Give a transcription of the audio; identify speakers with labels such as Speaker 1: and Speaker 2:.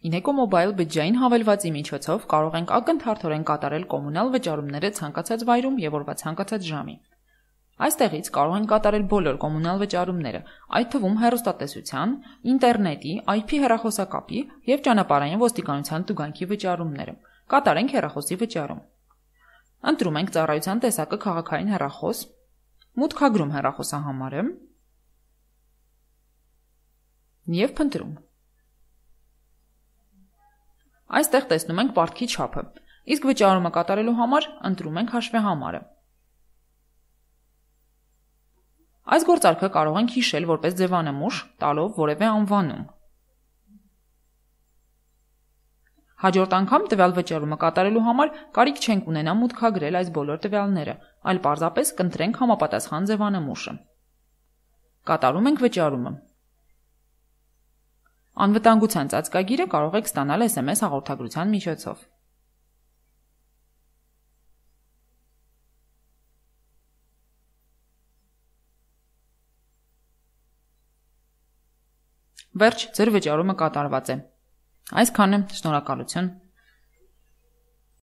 Speaker 1: Ineco Mobile բջջային հավելվածի միջոցով կարող ենք ակնթարթորեն կատարել կոմունալ վճարումները ցանկացած վայրում եւ օրվա ցանկացած ժամի։ Այստեղից կարող ենք կատարել բոլոր կոմունալ վճարումները, այդ թվում հեռուստատեսության, ինտերնետի, IP հեռախոսակապի եւ ճանապարհային ոստիկանության տուգանքի վճարումները։ Կատարենք հեռախոսի վճարում։ Ընտրում ենք ծառայության տեսակը քաղաքային հեռախոս, մուտքագրում հեռախոսահամարը եւ փնտրում։ Այստեղ տեսնում ենք պարտքի չափը, իսկ վճարումը կատարելու համար ընտրում ենք հաշվեհամարը։ Այս գործարքը կարող ենք հիշել որպես ձևանմուշ, տալով որևէ անվանում։ Հաջորդ անգամ տվյալ վճարումը կատարելու համար կարիք չենք ունենա մուտքագրել այս բոլոր տվյալները, այլ պարզապես կընտրենք համապատասխան ձևանմուշը։ Կատարում ենք վճարումը։ Անվտանգության ծածկագիրը կարող եք ստանալ SMS հաղորդագրության միջոցով։ Վերջ, ձեր վճարումը կատարված է։ Այսքանը, շնորհակալություն։